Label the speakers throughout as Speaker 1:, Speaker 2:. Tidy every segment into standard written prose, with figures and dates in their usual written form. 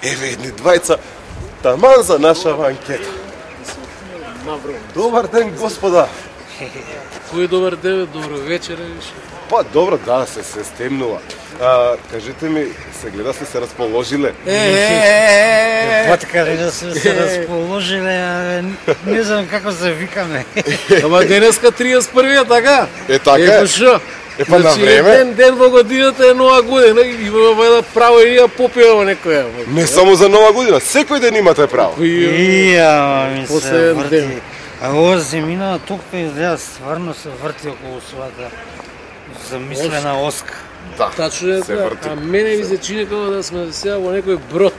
Speaker 1: Еве едни двајца, таман за нашава анкета. Добар ден, господа.
Speaker 2: Кој добар ден, добро вечер, више.
Speaker 1: Па добро, да, се стемнува. Кажете ми, се гледа се расположиле?
Speaker 3: Батка, да се расположиле, не знам како се викаме.
Speaker 2: Ама денеска 31-ја, така?
Speaker 1: Така е.
Speaker 2: Епа шо?
Speaker 1: Епа на време.
Speaker 2: Еден ден во годината е нова година и имаме право и ја попиваме некоја.
Speaker 1: Не само за нова година, секој ден имате право.
Speaker 3: Ми се
Speaker 2: Последен
Speaker 3: врти.
Speaker 2: ден.
Speaker 3: А ова земина тука изгледа стварно се врти околу својата замислена оска.
Speaker 1: Да,
Speaker 2: Тачно е
Speaker 1: се
Speaker 2: така,
Speaker 1: врти.
Speaker 2: а мене ми се чини како да сме сега во некој брод.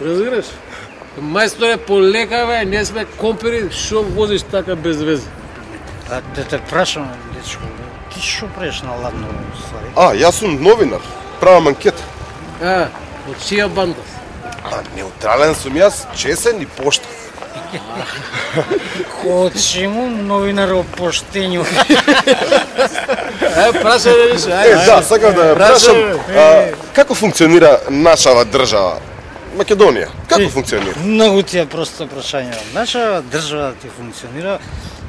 Speaker 2: Разбираш? Мајсторе, полекаве, не сме компери, шо возиш така без везе?
Speaker 3: А да те прашам, дечко, ти шо правиш на ладно ствари?
Speaker 1: Јас сум новинар, правам анкета.
Speaker 2: Од чија банда?
Speaker 1: Неутрален сум јас, чесен и поштен.
Speaker 3: Од чему новинар о поштењу?
Speaker 2: Прашај да више,
Speaker 1: Да, сакам да ја прашам, како функционира нашава држава? Македонија, како функционира?
Speaker 3: Многу ти е просто прашање. Наша држава ти функционира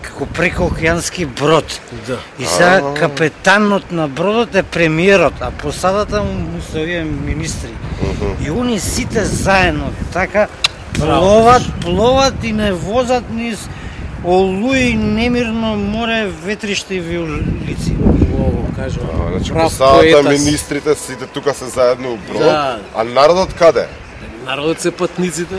Speaker 3: како прекоокеански брод.
Speaker 2: Да.
Speaker 3: И сега капетанот на бродот е премиерот, а посадата му се овие министри. И они сите заедно така пловат и не возат низ олуи, немирно море, ветриште и виолици.
Speaker 2: Ово, кажа.
Speaker 1: Значи,
Speaker 2: Прав
Speaker 1: посадата,
Speaker 2: поетас.
Speaker 1: министрите, сите тука се заедно у брод,
Speaker 2: Да.
Speaker 1: а народот каде?
Speaker 2: Народот се патниците.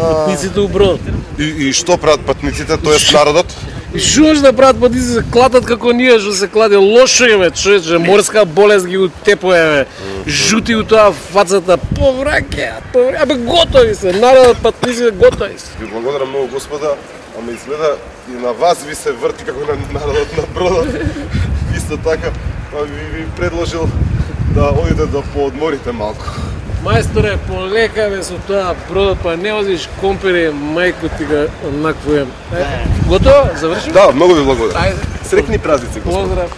Speaker 2: Патниците у брод.
Speaker 1: И што прават патниците, тоест народот?
Speaker 2: И шо може да прават патниците, се кладат како ние, што се кладе лошо е, човече, морска болест ги утепува, бе. Жути у тоа фацата, повраќаат, абе готови се, народот патниците готови се.
Speaker 1: Ви благодарам многу, господа, ама изгледа и на вас ви се врти како на народот на бродот. Исто така, па ви предложил да одите да поодморите малку.
Speaker 2: Мајсторе, полекаве со тоа бродот, па не возиш компери, мајко ти ga наквуем. Готово? Заврши?
Speaker 1: Да, многу ви благодарам.
Speaker 2: Ајде.
Speaker 1: Среќни празници, господа.
Speaker 2: Поздрав.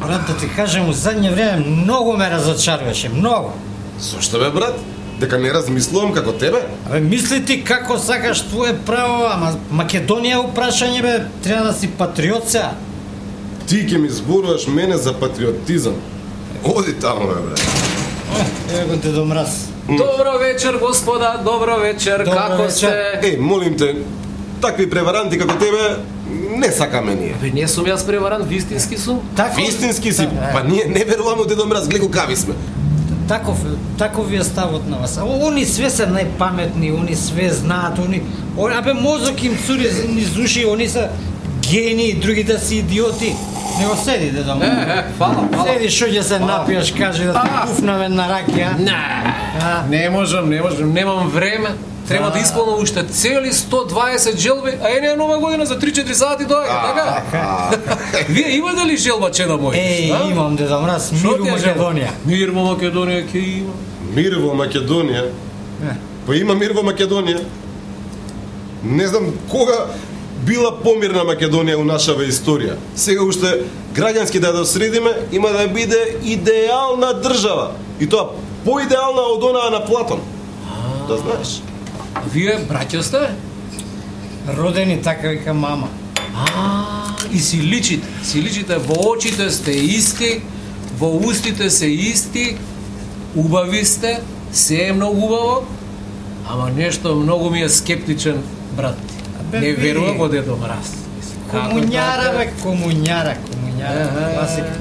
Speaker 3: Брат, да ти кажем, у задње време многу ме разочаруваше, многу.
Speaker 1: Зошто бе, брат? Дека не размислувам како тебе?
Speaker 3: Абе, мисли ти како сакаш твое право, ама Македонија у прашање, бе, треба да си патриот сега.
Speaker 1: Ти ќе ми зборуваш мене за патриотизам. Оди таму, бе, брат.
Speaker 3: Еве го Дедо Мраз.
Speaker 2: Добро вечер, господа, добро вечер,
Speaker 3: Добро
Speaker 2: како
Speaker 3: вечер.
Speaker 2: сте?
Speaker 1: Молим те, такви преваранти како тебе не сакаме ние.
Speaker 2: Бе, не сум јас преварант, вистински сум.
Speaker 1: Вистински си, па ние не веруваме Дедо Мраз, гледа какви сме.
Speaker 3: Таков ви е ставот на вас. Они све се најпаметни, они све знаат, абе мозок им цури низ уши, они се гени, другите си идиоти. Не го седи, Дедо Мраз.
Speaker 2: Фала.
Speaker 3: Седи, шо ќе се напиеш, кажи да те пуфнаме на ракија.
Speaker 2: Не можам, немам време. Треба да исполнам уште цели 120 желби, а е нова година за 3-4 сати доаѓа, така? Вие имате ли желба, чеда мој?
Speaker 3: Имам, Дедо Мраз, мир у Македонија.
Speaker 2: Мир во Македонија ќе има.
Speaker 1: Мир во Македонија? Па има мир во Македонија. Не знам кога била помирна Македонија у нашава историја. Сега уште граѓански да ја средиме, има да биде идеална држава. И тоа поидеална од онаа на Платон. Да знаеш.
Speaker 2: Вие браќа сте?
Speaker 3: Родени така вика мама.
Speaker 2: И си личите, во очите сте исти, во устите се исти, убави сте, се е многу убаво, ама нешто многу ми е скептичен, брат. Не верувам во Дедо Мраз.
Speaker 3: Комуњара, бе, комуњара. Класика.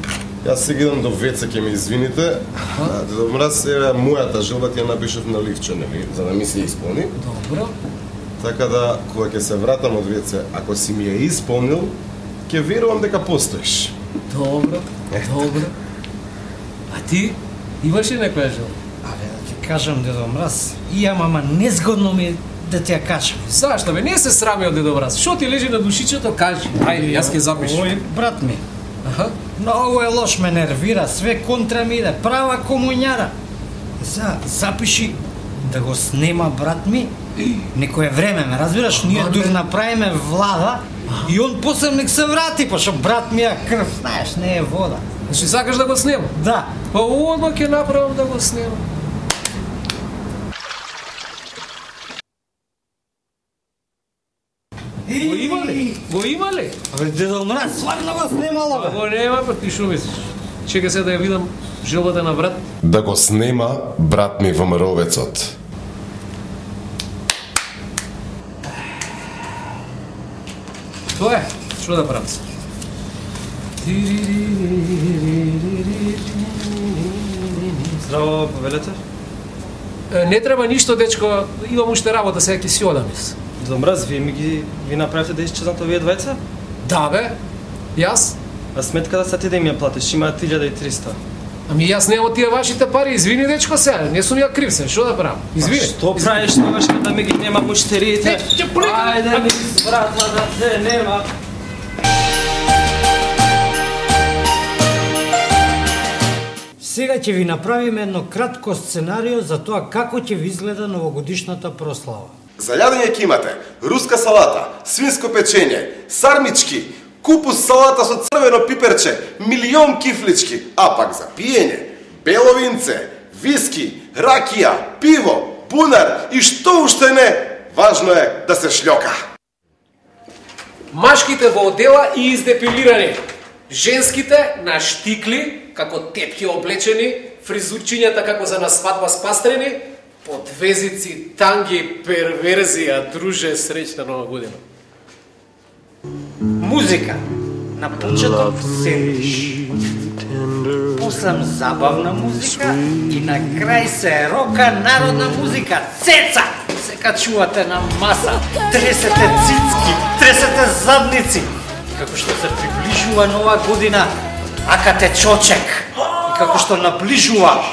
Speaker 1: Јас сега идам до веце, ќе ме извините. Дедо Мраз, еве мојата желба ти ја напишав на ливче, нели, за да ми се исполни.
Speaker 2: Добро.
Speaker 1: Така да, кога ќе се вратам од веце, ако си ми ја исполнил, ќе верувам дека постоиш.
Speaker 2: Добро. А ти, имаш ли некоја желба?
Speaker 3: Абе, да ти кажам, Дедо Мраз, ама незгодно ми да ти ја кажам.
Speaker 2: Зашто бе, не се срами од Дедо Мраз. Шо ти лежи на душичето, кажи. Ајде, јас ќе запишам.
Speaker 3: Ој, брат ми, многу е лош, ме нервира, све контра ми иде, права комуњара. Запиши да го снема брат ми, некое време, ме разбираш, ние дур направиме влада И он после нек се врати, пошто брат ми е крв, знаеш, не е вода.
Speaker 2: Значи сакаш да го снимам?
Speaker 3: Да.
Speaker 2: Па одма ќе направам да го снимам. Го има ли? Го има ли?
Speaker 3: Абе, Дедо Мраз, сварно го снимало, бе.
Speaker 2: Го нема, па ти шо мислиш? Чека се да ја видам желбата на брат.
Speaker 1: Да го снема брат ми ВМРО-вецот.
Speaker 2: Тоа е, што да правам се?
Speaker 4: Здраво, повелете.
Speaker 2: Не треба ништо, дечко, имам уште работа, сега ќе си одам.
Speaker 4: Дедо Мраз, ви направите да исчезнат овие двајца?
Speaker 2: Да бе, јас?
Speaker 4: А сметката са ти да им ја платиш, има 1300.
Speaker 2: Ами јас немам тие вашите пари, извини дечко сега, не сум ја крив се, што да правам? Извини.
Speaker 4: Што правиш тогаш кога ми ги нема муштериите? Ајде ми вратва да те нема.
Speaker 3: Сега ќе ви направиме едно кратко сценарио за тоа како ќе ви изгледа новогодишната прослава.
Speaker 1: За јадење ќе имате руска салата, свинско печење, сармички, купус салата со црвено пиперче, милион кифлички, а пак за пиење, бело винце, виски, ракија, пиво, бунар и што уште не, важно е да се шлјока.
Speaker 2: Машките во одела и издепилирани, женските на штикли, како тепки облечени, фризурчињата како за на свадба спастрени, подвезици, танги, перверзија, друже, среќна нова година.
Speaker 3: Музика. На почеток сендвиш. После забавна музика и на крај се рока народна музика. Цеца! Се качувате на маса, тресете цицки, тресете задници. И како што се приближува нова година, акате чочек. И како што наближува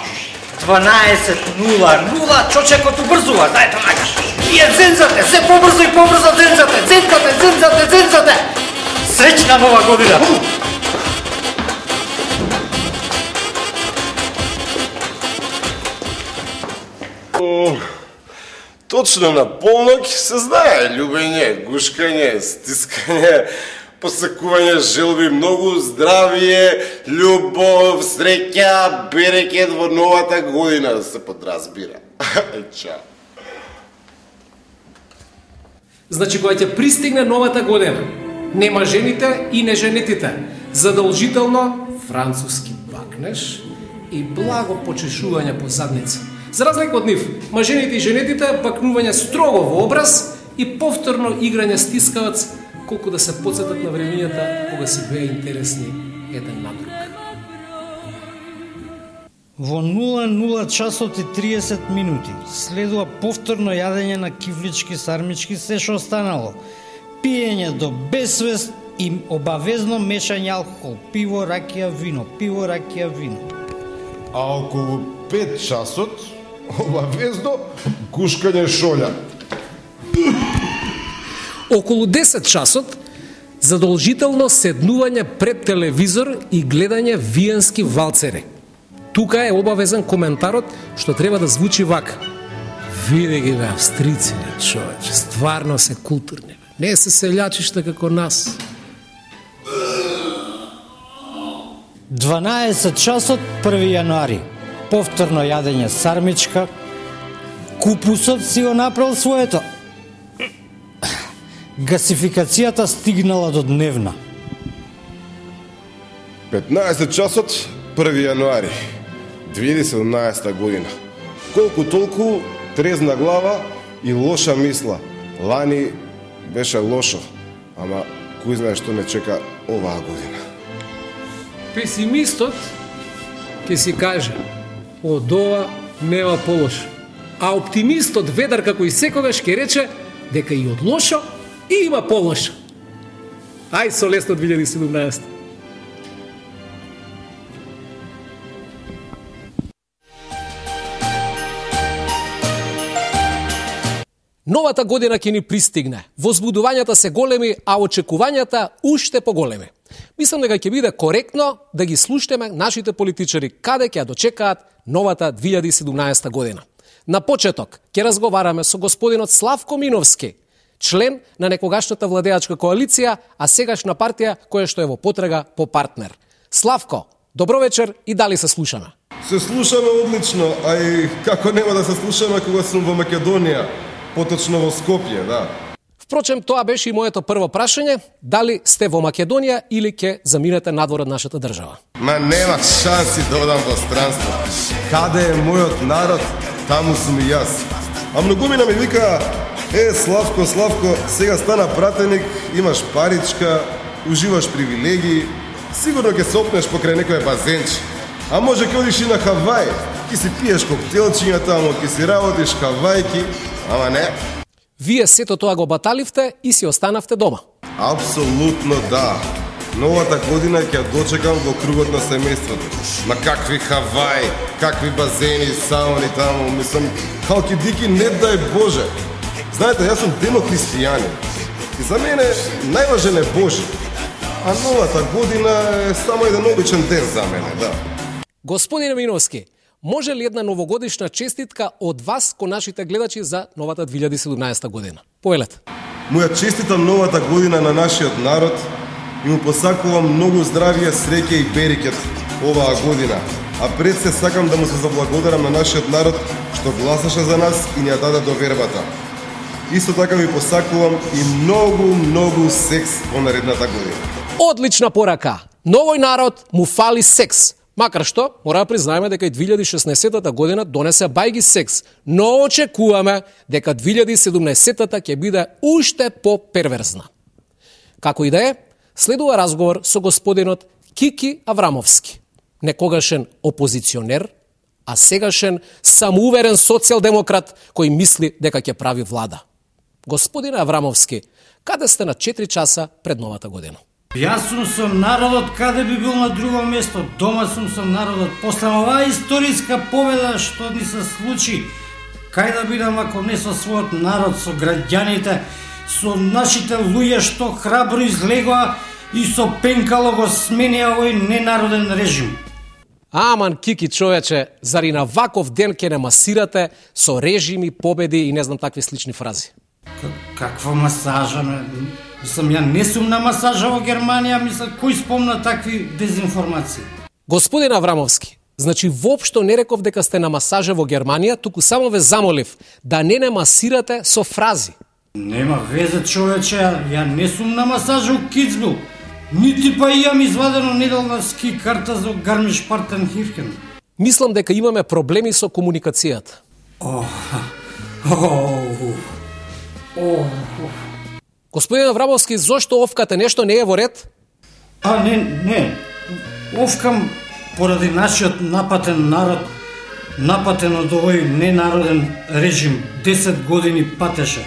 Speaker 3: 12:00, чочекот убрзува, дајте накаш. И е зензате, се побрзо и побрзо зензате, зензате. Среќна нова година!
Speaker 1: Точно на полнок се знае љубење, гушкање, стискање, посекување желби, многу здравие, љубов, среќа, берекет во новата година, се подразбира. Чао.
Speaker 2: Значи, кога ќе пристигне новата година, нема жените и неженетите, задолжително француски бакнеш и благо почешување по задница. За разлика од нив, мажените и женетите бакнување строго во образ и повторно играње стискавац, колку да се подсетат на времењата кога си беа интересни еден на друг.
Speaker 3: Во 00 часот и 30 минути следува повторно јадење на кифлички, сармички, се што останало. Пиење до безсвест и обавезно мешање алкохол, пиво, ракија, вино, пиво, ракија, вино.
Speaker 1: А околу 5 часот, обавезно, гушкање шолја.
Speaker 2: Околу 10 часот, задолжително седнување пред телевизор и гледање виенски валцери. Тука е обавезен коментарот што треба да звучи вака. Види ги бе австрици, човече, стварно се културни. Не се селјачишта како нас.
Speaker 3: 12 часот 1 јануари. Повторно јадење сармичка. Купусот си го направил своето. Гасификацијата стигнала до дневна.
Speaker 1: 15 часот 1 јануари 2017 година. Колку толку трезна глава и лоша мисла. Лани беше лошо, ама кој знае што не чека оваа година.
Speaker 2: Песимистот ќе си каже, од ова нема полошо. А оптимистот ведар како и секогаш ќе рече дека и од лошо и има полошо. Ај со лесно 2017. Новата година ќе ни пристигне. Возбудувањата се големи, а очекувањата уште поголеми. Мислам дека ќе биде коректно да ги слушнеме нашите политичари каде ќе ја дочекаат новата 2017 година. На почеток ќе разговараме со господинот Славко Миновски, член на некогашната владеачка коалиција, а сегашна партија која што е во потрага по партнер. Славко, добро вечер и дали се слушаме?
Speaker 1: Се слушаме одлично, а и како нема да се слушаме кога сум во Македонија, поточно во Скопје, да.
Speaker 2: Впрочем, тоа беше и моето прво прашање, дали сте во Македонија или ќе заминете надвор од нашата држава?
Speaker 1: Ма нема шанси да одам во странство. Каде е мојот народ, таму сум и јас. А многумина ми вика, Славко, сега стана пратеник, имаш паричка, уживаш привилегии, сигурно ќе се опнеш покрај некој базенч. А може ќе одиш и на Хавај, ќе си пиеш коктелчиња таму, ќе си работиш хавајки, ама не.
Speaker 2: Вие сето тоа го баталивте и си останавте дома.
Speaker 1: Апсолутно да. Новата година ќе дочекам во кругот на семејството. Ма какви Хавај, какви базени, сауни таму, мислам, халки дики, не дај Боже. Знаете, јас сум демохристијанин и за мене најважен е Божи. А новата година е само еден обичен ден за мене, да.
Speaker 2: Господине Миновски, може ли една новогодишна честитка од вас кон нашите гледачи за новата 2017 година? Повелете.
Speaker 1: Му ја честитам новата година на нашиот народ и му посакувам многу здравје, среќа и берекет оваа година. А пред се сакам да му се заблагодарам на нашиот народ што гласаше за нас и ни ја даде довербата. Исто така ви посакувам и многу секс во наредната година.
Speaker 2: Одлична порака. Новој народ му фали секс. Макар што, мора да признаеме дека и 2016 година донесе бајги секс, но очекуваме дека 2017 ќе биде уште по-перверзна. Како и да е, следува разговор со господинот Кики Аврамовски, некогашен опозиционер, а сегашен самоуверен социјалдемократ кој мисли дека ќе прави влада. Господине Аврамовски, каде сте на 4 часа пред новата година?
Speaker 3: Јас сум со народот, каде би бил на друго место, дома сум со народот. После оваа историска победа што ни се случи, кај да бидам ако не со својот народ, со граѓаните, со нашите луѓе што храбро излегоа и со пенкало го сменија овој ненароден режим.
Speaker 2: Аман, Кики, човече, зари на ваков ден ќе не масирате со режими, победи и не знам такви слични фрази?
Speaker 3: Каква масажа? Мислам, ја не сум на масажа во Германија, мислам, кој спомна такви дезинформации?
Speaker 2: Господин Аврамовски, значи воопшто не реков дека сте на масажа во Германија, туку само ве замолив да не масирате со фрази.
Speaker 3: Нема везе, човече, ја не сум на масажа у Кицбил. Нити па имам извадено неделна ски карта за Гармиш-Партенкирхен.
Speaker 2: Мислам дека имаме проблеми со комуникацијата. Господин Аврамовски, зошто овкате, нешто не е во ред?
Speaker 3: Не. Овкам поради нашиот напатен народ, напатен од овој ненароден режим, 10 години патеше.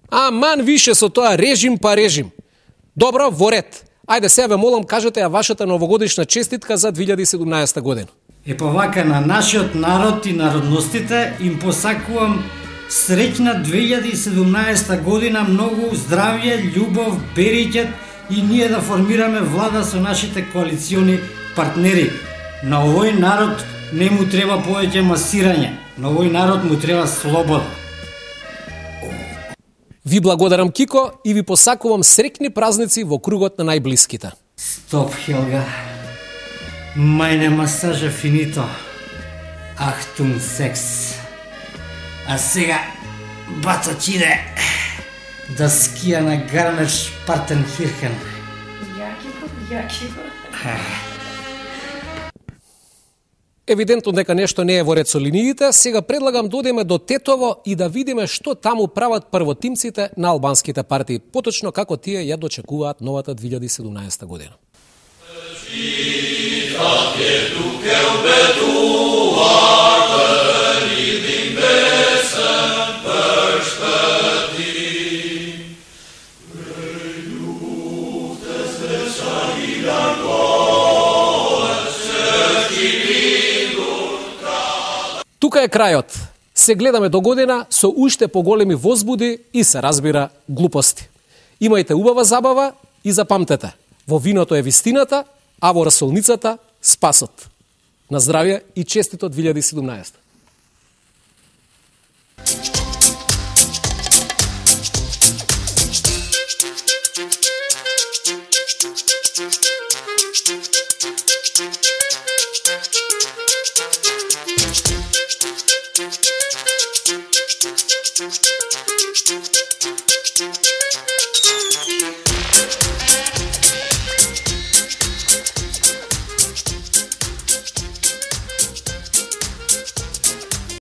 Speaker 2: Аман више со тоа режим па режим. Добро, во ред. Ајде сега ве молам, кажете ја вашата новогодишна честитка за 2017 година.
Speaker 3: Па вака на нашиот народ и народностите им посакувам среќна 2017 година, многу здравје, љубов, берекет и ние да формираме влада со нашите коалициони партнери. На овој народ не му треба повеќе масирање, на овој народ му треба слобода.
Speaker 2: Ви благодарам, Кико, и ви посакувам среќни празници во кругот на најблиските.
Speaker 3: Стоп, Хелга. Мајне масажа финито. Ахтун секс. А сега бацач иде да скија на Гармиш-Партенкирхен.
Speaker 5: Јаки.
Speaker 2: Евидентно дека нешто не е во ред со линиите, сега предлагам да одиме до Тетово и да видиме што таму прават првотимците на албанските партии, поточно како тие ја дочекуваат новата 2017 година. Тука е крајот. Се гледаме до година со уште поголеми возбуди и се разбира глупости. Имајте убава забава и запамтете, во виното е вистината, а во расолницата спасот. На здравје и честито 2017.